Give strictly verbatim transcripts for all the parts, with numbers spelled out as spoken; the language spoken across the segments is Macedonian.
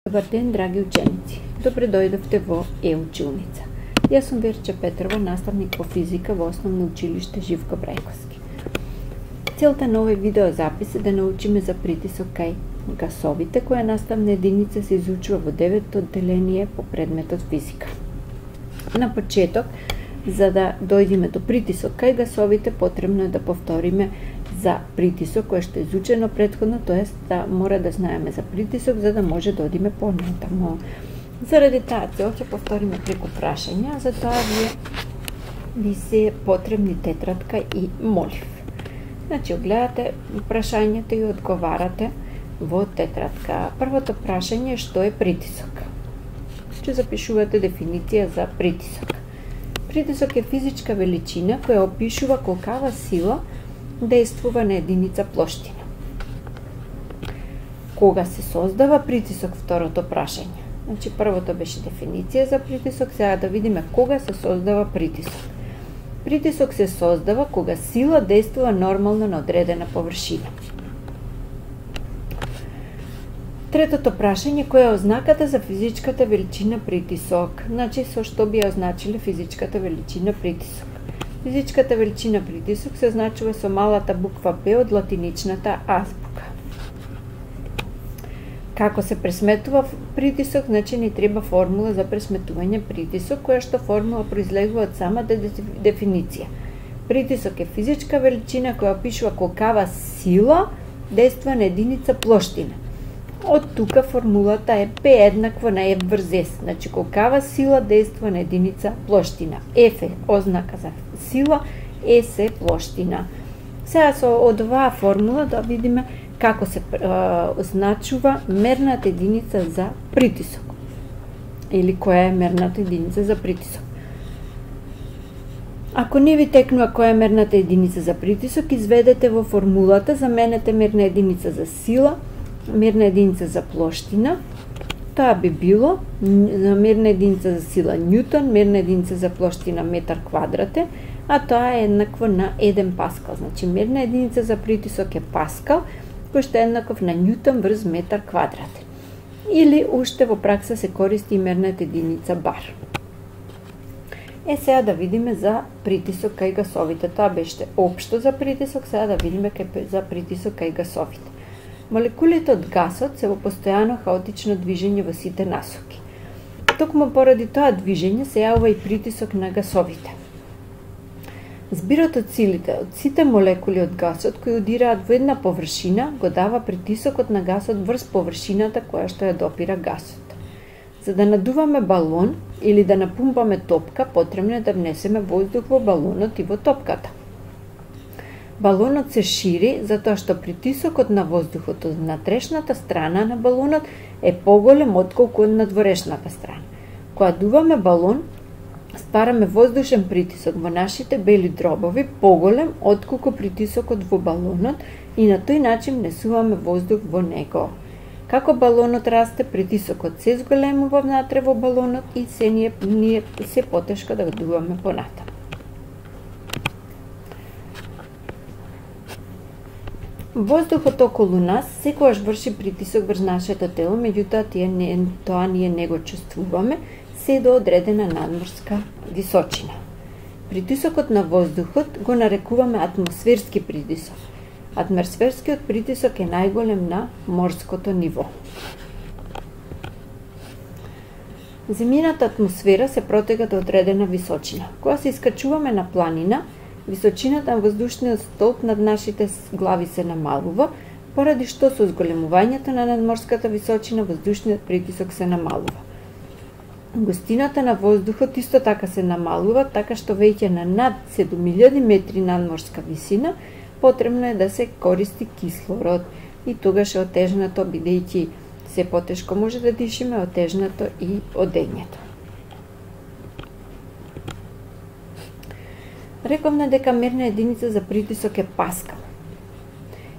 Добар ден, драги ученици! Добре дојдовте во Е-училница. Јас сум Верче Петрова, наставник по физика во Основно училиште Живко Брајковски. Целта на овој видеозапис е да научиме за притисок кај гасовите, која наставна единица се изучува во деветто одделение по предметот физика. На почеток, за да дојдеме до притисок кај гасовите, потребно е да повториме за притисок кој што е изучено претходно, тоест да мора да знаеме за притисок за да може да одиме понатамо. Заради таа цел ќе повториме преку прашања, за тоа вие ви се потребни тетрадка и молив. Значи, гледате прашањето и одговарате во тетрадка. Првото прашање е што е притисок. Ќе запишувате дефиниција за притисок. Притисок е физичка величина која опишува колкава сила действува на единица плоштина. Кога се создава притисок, второто прашање. Значи, првото беше дефиниција за притисок, сега да видиме кога се создава притисок. Притисок се создава кога сила действува нормално на одредена површина. Третото прашање, која е ознаката за физичката величина притисок? Значи, со што би ја означиле физичката величина притисок? Физичката величина притисок се означува со малата буква П од латиничната азбука. Како се пресметува притисок, значи ни треба формула за пресметување притисок, која што формула произлегува од самата дефиниција. Притисок е физичка величина која опишува колкава сила действува на единица плоштина. Од тука формулата е П еднакво на F врз S, значи колкава сила действува на единица плоштина. F е ознака за сила, S е плоштина. Сега со од оваа формула да видиме како се означува мерната единица за притисок. Или која е мерната единица за притисок. Ако не ви текнува која е мерната единица за притисок, изведете во формулата, заменете мерна единица за сила, мерна единица за плоштина, тоа би било мерна единица за сила Њутон, мерна единица за плоштина метар квадратен, а тоа е еднакво на еден паскал. Значи, мерна единица за притисок е паскал, кој што е еднаков на Њутон врз метар квадратен. Или уште во пракса се користи и мерната единица бар. Е, сега да видиме за притисок кај гасовите. Тоа беше општо за притисок, сега да видиме за притисок кај гасовите. Молекулите од гасот се во постојано хаотично движење во сите насоки. Токму поради тоа движење се јавува и притисок на гасовите. Збирот од силите од сите молекули од гасот кои удираат во една површина го дава притисокот на гасот врз површината која што ја допира гасот. За да надуваме балон или да напумпаме топка, потребно е да внесеме воздух во балонот и во топката. Балонот се шири затоа што притисокот на воздухот од внатрешната страна на балонот е поголем отколку од надворешната страна. Кога дуваме балон, ствараме воздушен притисок во нашите бели дробови поголем отколку притисокот во балонот и на тој начин внесуваме воздух во него. Како балонот расте, притисокот се зголемува внатре во балонот и се ние, ние се потешко да го дуваме понатаму. Воздухот околу нас секогаш врши притисок врз нашето тело, меѓутоа тоа ние не го чувствуваме се до одредена надморска височина. Притисокот на воздухот го нарекуваме атмосферски притисок. Атмосферскиот притисок е најголем на морското ниво. Земјината атмосфера се протега до одредена височина. Кога се искачуваме на планина, височината на воздушниот столб над нашите глави се намалува, поради што со зголемувањето на надморската височина воздушниот притисок се намалува. Густината на воздухот исто така се намалува, така што веќе на над седум илјади метри надморска висина потребно е да се користи кислород и тогаш е отежнато, бидејќи се потешко може да дишиме, отежнато и одењето. Рековме дека мерна единица за притисок е паскал.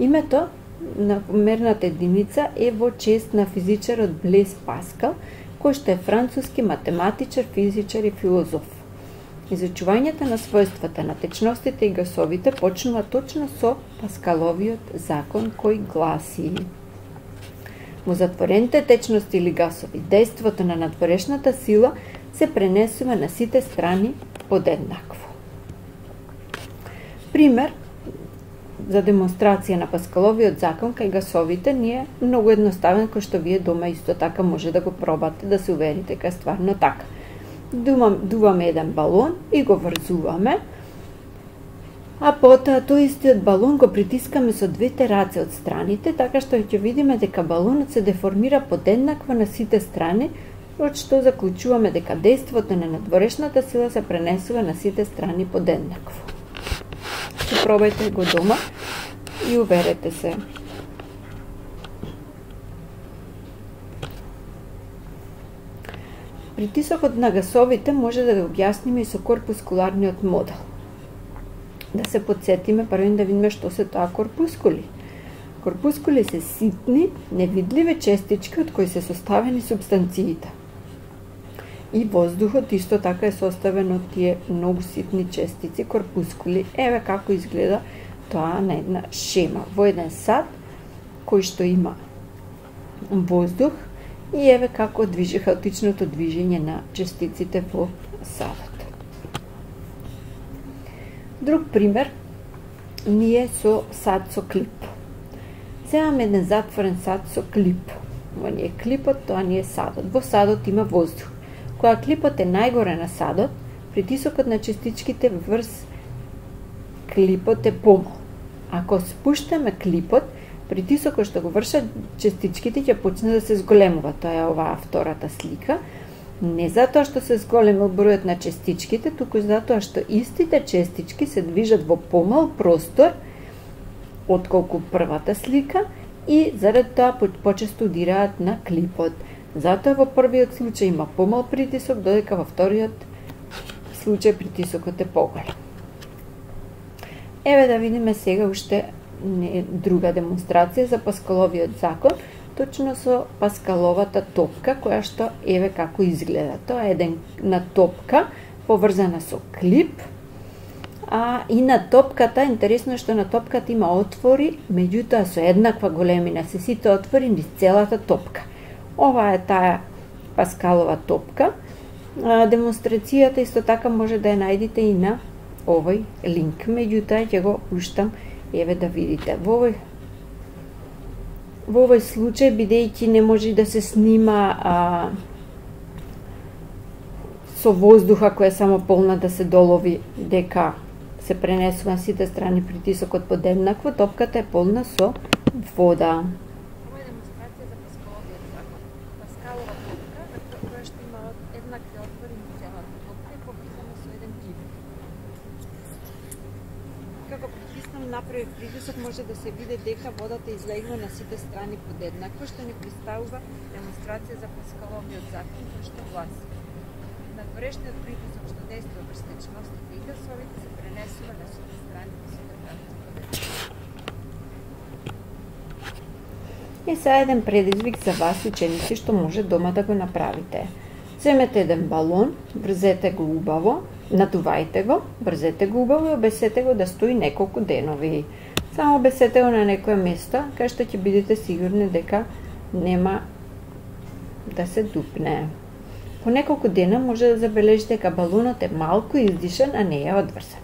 Името на мерната единица е во чест на физичарот Блез Паскал, кој што е француски математичар, физичар и филозоф. Изучувањето на својствата на течностите и гасовите почнува точно со Паскаловиот закон кој гласи: Во затворените течности или гасови, дејството на надворешната сила се пренесува на сите страни подеднакво. Пример за демонстрација на Паскаловиот закон кај гасовите ни е многу едноставен, кој што вие дома исто така може да го пробате, да се уверите дека е стварно така. Дуваме еден балон и го врзуваме, а потоа тој истиот балон го притискаме со двете раце од страните, така што ќе видиме дека балонот се деформира подеднакво на сите страни, од што заклучуваме дека дејството на надворешната сила се пренесува на сите страни подеднакво. Пробајте го дома и уверете се. Притисокот на гасовите може да го објасниме и со корпускуларниот модел. Да се подсетиме прво да видиме што се тоа корпускули. Корпускули се ситни, невидливи честички од кои се составени субстанциите. И воздухот исто така е составен од тие многу ситни честици, корпускули. Еве како изгледа тоа на една шема. Во еден сад, кој што има воздух, и еве како движи хаотичното движење на честиците во садот. Друг пример ни е со сад со клип. Земаме еден затворен сад со клип. Во ни е клипот, тоа ни е садот. Во садот има воздух. Кога клипот е најгоре на садот, притисокот на частичките врз клипот е помал. Ако спуштаме клипот, притисокот што го вршат частичките ќе почне да се зголемува. Тоа е оваа втората слика. Не затоа што се зголемил бројот на частичките, туку затоа што истите частички се движат во помал простор отколку првата слика и заради тоа почесто удираат на клипот. Затоа во првиот случај има помал притисок, додека во вториот случај притисокот е поголем. Еве да видиме сега уште друга демонстрација за Паскаловиот закон, точно со Паскаловата топка, која што еве како изгледа. Тоа е една топка поврзана со клип, а и на топката, интересно што на топката има отвори, меѓутоа со еднаква големина се сите отвори низ целата топка. Ова е таа Паскалова топка. Демонстрацијата исто така може да ја најдете и на овој линк, меѓутоа ќе го пуштам еве да видите. Во овој Во овој случај, бидејќи не може да се снима а, со воздуха која е само полна да се долови дека се пренесува на сите страни притисокот подеднакво, топката е полна со вода. Ова е демонстрација за Паскаловиот закон. Паскалова топка, која што има еднакви отвори на целата топка и поврзана со еден клип. Како притиснам направи притисок, може да се види дека водата излегува на сите страни подеднакво, што ни представува демонстрација за Паскаловиот закон, кој што гласи: надворешниот притисок што дејства врз течностите и гасовите се пренесува на сите страни по сите правци подеднакво. Е сега еден предизвик за вас, ученици, што може дома да го направите. Земете еден балон, врзете го убаво, надувајте го, врзете го убаво и обесете го да стои неколку денови. Само обесете го на некое место, кај што ќе бидете сигурни дека нема да се дупне. По неколку дена може да забележите дека балонот е малку издишан, а не е одврзан.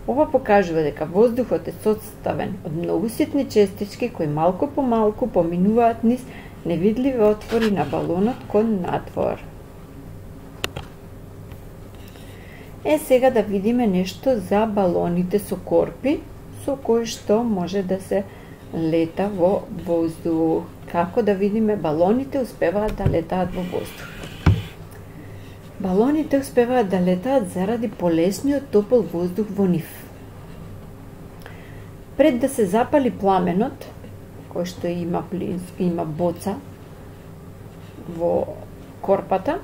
Ова покажува дека воздухот е составен од многу ситни честички кои малку по малку поминуваат низ невидливи отвори на балонот кон надвор. Е, сега да видиме нешто за балоните со корпи, со кои што може да се лета во воздух. Како да видиме балоните успеваат да летаат во воздух? Балоните успеваат да летаат заради полесниот топол воздух во нив. Пред да се запали пламенот, кој што има има боца во корпата,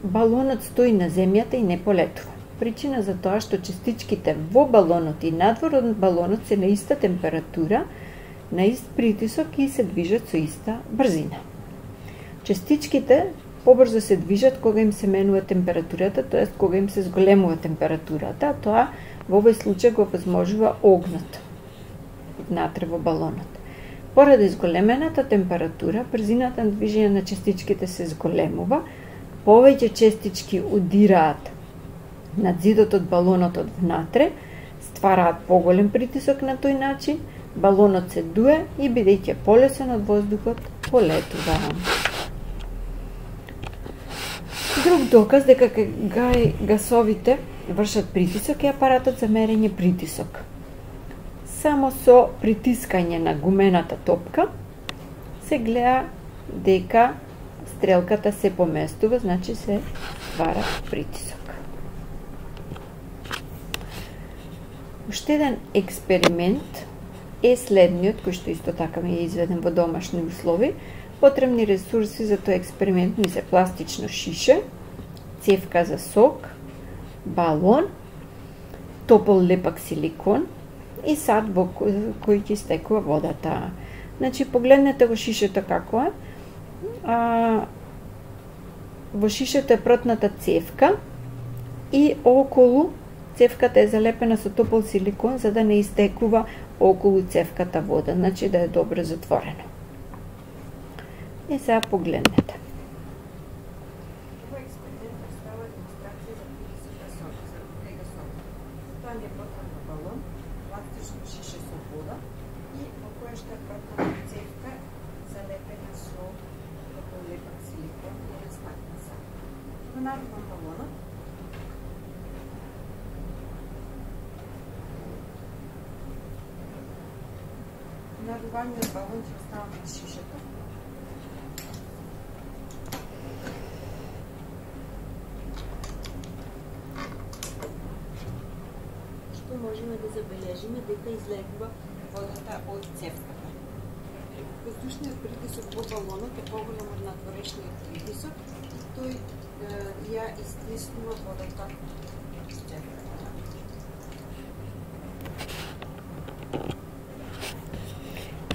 балонот стои на земјата и не полетува. Причина за тоа што частичките во балонот и надвор од балонот се на иста температура, на ист притисок и се движат со иста брзина. Частичките побрзо се движат кога им се менува температурата, т.е. кога им се зголемува температурата, тоа во овој случај го возможува огнот внатре во балонот. Поради зголемената температура, брзината на движење на частичките се зголемува, повеќе частички удираат на зидот од балонот од внатре, ствараат поголем притисок на тој начин, балонот се дуе и бидејќи полесен од воздухот, полетува. Друг доказ дека гасовите вршат притисок е апаратот за мерење притисок. Само со притискање на гумената топка се гледа дека стрелката се поместува, значи се ствара притисок. Уште еден експеримент е следниот, кој што исто така ми е изведен во домашни услови. Потребни ресурси за тој експеримент ми се пластично шише, цевка за сок, балон, топол лепак силикон и сад во кој ќе стекува водата. Значи, погледнете го шишето како е. А, во шишето е протната цевка и околу цевката е залепена со топол силикон за да не истекува околу цевката вода, значи да е добро затворено. И сега погледнете. Тоа ни е потребно балон, пластично шише со вода и во која што е протната цевка залепена со топол лепак силикон и растакна сад. Го нарувам балонот. Наруваниот балон ќе оставам на шишето. Што можеме да забележиме дека излегува водата од цевката. Воздушниот притисок во балонот е поголем од надворешниот притисок. Тој е, ја истиснува водата од цевката.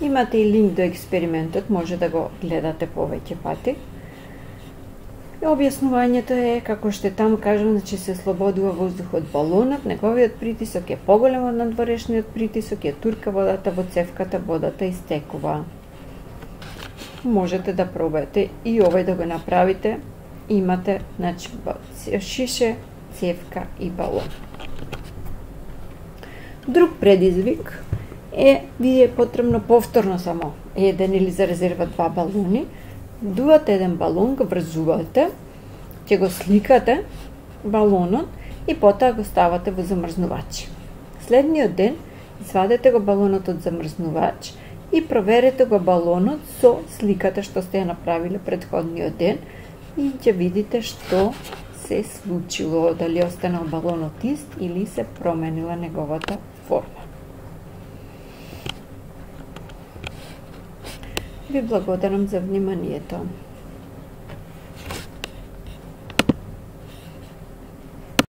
Имате и линк до експериментот, може да го гледате повеќе пати. Објаснувањето е, како што таму кажам, значи се слободува воздух од балонот, неговиот притисок е поголем од надворешниот притисок, ја турка водата во цевката, водата истекува. Можете да пробаете и овој да го направите. Имате, значи, шише, цевка и балон. Друг предизвик е, ви е потребно повторно само еден или за резерва два балони. Дуате еден балон, го врзувате, ќе го сликате балонот и потоа го ставате во замрзнувач. Следниот ден извадете го балонот од замрзнувач и проверете го балонот со сликата што сте ја направиле претходниот ден и ќе видите што се случило, дали останал балонот ист или се променила неговата форма. Ви благодарам за вниманието.